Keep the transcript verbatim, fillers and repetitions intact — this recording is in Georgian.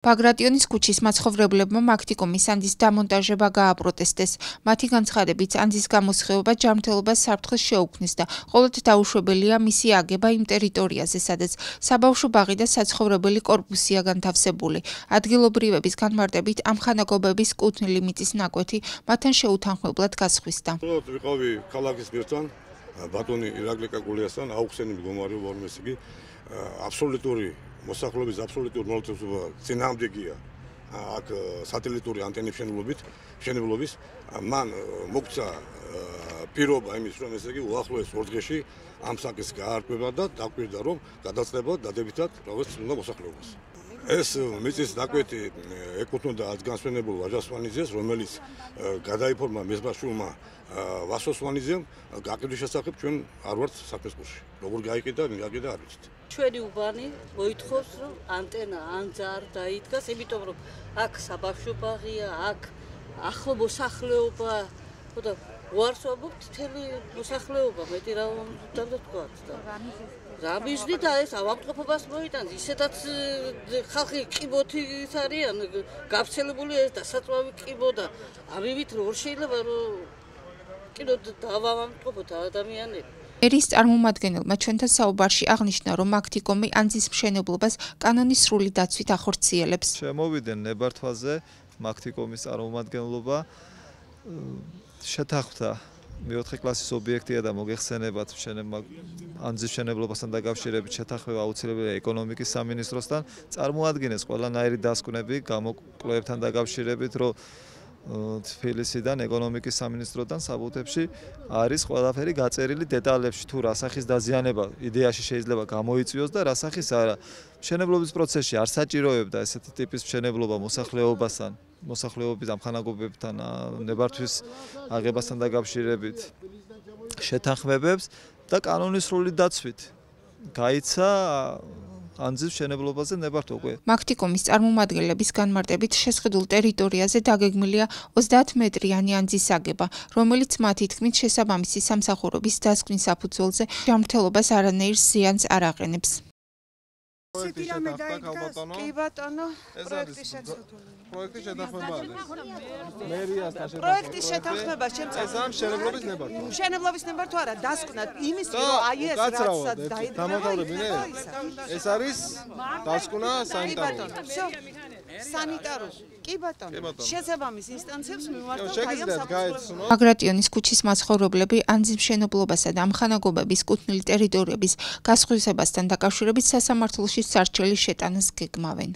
ბაგრატიონის ქუჩის მაცხოვრებლებმა მაქტიკომის ანძის დამონტაჟება გააპროტესტეს. მათი განცხადებით, ანძის გამოსხივება ჯანმრთელობას საფრთხეს შეუქმნის და ყოველთ დაუშვებელია მისი აგება იმ ტერიტორიაზე, სადაც საბავშვო ბაღი და საცხოვრებელი კორპუსია განთავსებული. ადგილობრივების განმარტებით, ამ ხანაგობების კუთვნილი მიწის ნაკვეთი მათთან შეუთანხმებლად გასხვისდა. ვიყავი ქალაქის მერთან, ბატონი ირაკლი კაკულიასთან, აუხსენი მდგომარეობა ორმეს იგი აბსოლუტური მოსახლეობის აბსოლუტური მოლოდინობა წინააღმდეგია აქ სატელიტური ანტენების მშენებლობით, მშენებლობის მან მოგცა პირობა იმის, რომ ესე იგი უახლოეს ორ დღეში ამ საკითხს გაარკვევა და დაკვირდა, რომ გადაწყვეტა დადებითად რაღაც უნდა მოსახლეობას. ეს მიწის ნაკვეთი ეკუთვნოდა განსვენებულ ვაჟა სვანიძეს, რომელიც გადაიფორმა მეზბაშვილმა ვასო სვანიძემ, გაყიდვის შესახებ ჩვენ არ ვართ საქმესპურში. როგორ გაიყიდა, ვინ გაყიდა არ ვიცით. ჩვენი უბანი მოითხოვს, რომ ანტენა ან ძარ დაიდგას, იმიტომ რომ აქ საბავშვო ბაღია, აქ ახლო მოსახლეობა, ხოდა უარსობობთ მთელი მოსახლეობა, მეტი რა უნდა თქვათ და რა მიზნით ეს ავადმყოფობას მოიტანს, ისედაც ხალხი ყიბოთი არიან, გავრცელებული ეს დასაწვავი ყიბო და ამივით როგორ შეიძლება რომ კიდევ დავავადმყოფოთ ადამიანები. ერის წარმომადგენელმა ჩვენთან საუბარში აღნიშნა, რომ მაქტიკომი ანძის მშენებლობას კანონის სრული დაცვით ახორციელებს. შემოვიდნენ ნებართვაზე მაქტიკომის წარმომადგენლობა შეთანხმდა მეოთხე კლასის ობიექტია და მოგეხსენებათ ანძის მშენებლობასთან დაკავშირებით შეთანხმება აუცილებელია ეკონომიკის სამინისტროსთან, წარმოადგენეს ყველანაირი დასკვნები გამოკვლევებთან დაკავშირებით, რომ თბილისიდან ეკონომიკის სამინისტროდან საბუთებში არის ყველაფერი გაწერილი დეტალებში, თუ რა სახის დაზიანება იდეაში შეიძლება გამოიწვიოს და რა სახის არა. მშენებლობის პროცესში არ საჭიროებდა ესეთი ტიპის მშენებლობა მოსახლეობასთან, მოსახლეობის ამხანაგობებთან, ნებართვის აღებასთან დაკავშირებით შეთანხმებებს და კანონის სრული დაცვით გაიცა ანძის მშენებლობაზე ნებართვა უკვე. მაქტიკომის წარმომადგენლების განმარტებით შესყიდულ ტერიტორიაზე დაგეგმილია ოცდაათ მეტრიანი ანძის აგება, რომელიც მათი თქმით შესაბამისი სამსახურების დასკვნის საფუძველზე ჯანმრთელობას არანაირ ზიანს არ აყენებს. კი ბატონო, პროექტის შეთანხმება. პროექტის შეთანხმება არის. მერიასთან შეთანხმება. პროექტის შეთანხმება შემწევ. ეს ამ მშენებლობის ნებართვა. მშენებლობის ნებართვა არა, დასკვნა იმის, რომ აი ეს რაცა დამოკავდებინე. ეს არის დასკვნა სანიტარული. სანიტარული. კი ბატონო. შესაბამის ინსტანციებს მიმართოთ აი ამ საფუძველზე. ბაგრატიონის ქუჩის მაცხოვრებლები ანძის მშენებლობასა და ამხანაგობების კუთვნილი ტერიტორიების გასხვისებასთან დაკავშირებით სასამართლოში სარჩელი შეტანას გეგმავენ.